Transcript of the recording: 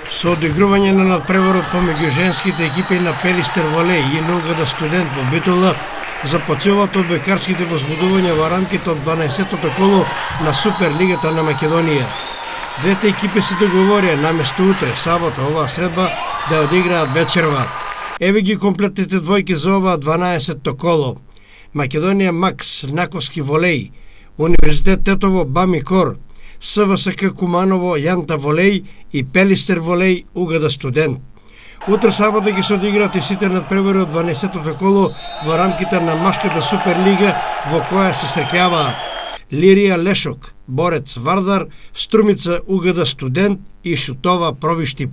Со одигрување на надпреварот помеѓу женските екипи на Пелистер Волеј и на УГД Студент во Битола, започнуваат одбојкарските возбудувања во рамките од 12-тото коло на Суперлигата на Македонија. Двете екипи се договорија наместо утре, сабота, оваа средба, да одиграат вечерва. Еве ги комплетните двојки за оваа 12-то коло. Македонија Макс, Наковски Волеј, Универзитет Тетово Бами Кор, СВСК Куманово Јанта Волеј и Пелистер Волеј УГД Студент. Утре сабота ќе се одиграат и сите надпревари од 12-тото коло во рамките на Машката Суперлига во која се среќаваат Лирија Лешок, Борец Вардар, Струмица УГД Студент и Шутова Провиштип.